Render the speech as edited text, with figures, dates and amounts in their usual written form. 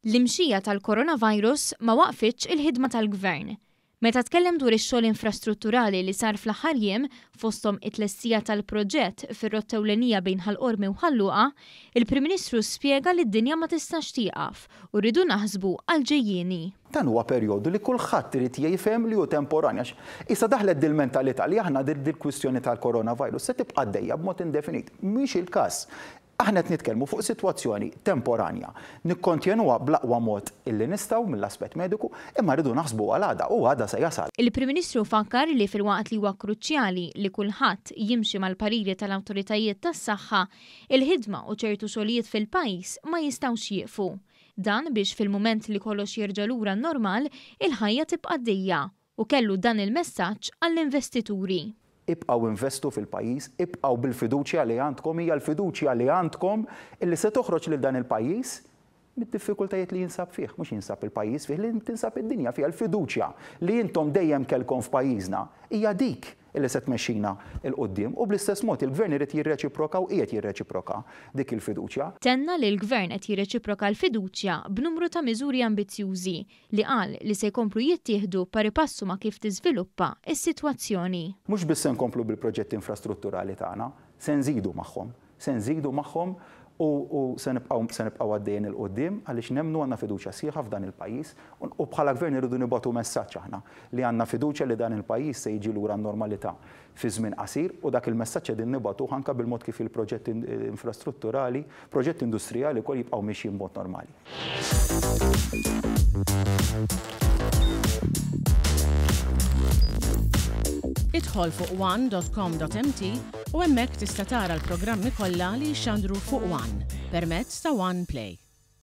L-imxija tal-coronavirus ma waqfitx il-ħidma tal-Gvern. Meta tkellem dwar ix-xogħol infrastrutturali li sar fl-aħħar jiem, fosthom it-tlestija tal-proġett fir-rotta ewlenija bejn Ħal Qormi u Ħal Luqa, il-Prim Ministru spjega li d-dinja ma tistax tieqaf u rridu naħsbu għall-ġejjieni. Dan huwa perjodu li kulħadd irid jifhem li hu temporanju għax issa daħlet dil-mentalità li aħna dil-kwistjoni tal-coronavirus se tibqa' għaddejja b'mod indefinit. Mhix il-każ. Aħna qed nitkellmu fuq sitwazzjoni temporanja. Nikkontjenuha bl-aqwa mod illi nistgħu mill-aspett mediku, imma rridu naħsbu għal għada u għada se jasal. Il-Prim Ministru fakkar li filwaqt li huwa kruċjali li kulħadd jimxi mal-pariri tal-awtoritajiet tas-saħħa, il-ħidma u ċertu xogħlijiet fil-pajjiż ma jistgħux jieqfu. Dan biex fil-mument li kollox jerġa' lura n-normal, il-ħajja tibqa' għaddejja u kellu dan il-messaġġ għall-investituri. Ibqgħu investu fil-pajjiż, ibqgħu bil-fiduċja li għandkom, hija l-fiduċja li għandkom illi se toħroġ lil dan il-pajjiż mid-diffikultajiet li jinsab fih, mhux jinsab il-pajjiż fih, li tinsab id-dinja fiha. Il-fiduċja li intom dejjem kellkom f'pajjiżna hija dik illi se tmexxina 'l quddiem u bl-istess mod il-Gvern irid jirreċiproka u qiegħed jirreċiproka dik il-fiduċja. Tenna li l-Gvern qed jirreċiproka l-fiduċja b'numru ta' miżuri ambizzjużi li qal li se jkomplu jittieħdu paripassu ma' kif tiżviluppa s-sitwazzjoni. Mhux biss se nkomplu bil-proġetti infrastrutturali tagħna, se nżidu magħhom. Se nżidu magħhom u u se nibqgħu se nibqgħu għaddejjin 'il quddiem għaliex nemmnu għandna fiduċja sħiħa f'dan il-pajjiż u bħala Gvern irridu nibagħtu messaġġ aħna li għandna fiduċja li dan il-pajjiż se jiġi lura għan-normalità fi żmien qasir u dak il-messaġġ qegħdin nibagħtuh anke bil-mod kif il-proġetti infrastrutturali, proġetti industrijali wkoll jibqgħu mixjin b'mod normali. Idħol fuq one.com.mt u hemmhekk tista' tara l-programmi kollha li jixxandru fuq One permezz ta' One Play.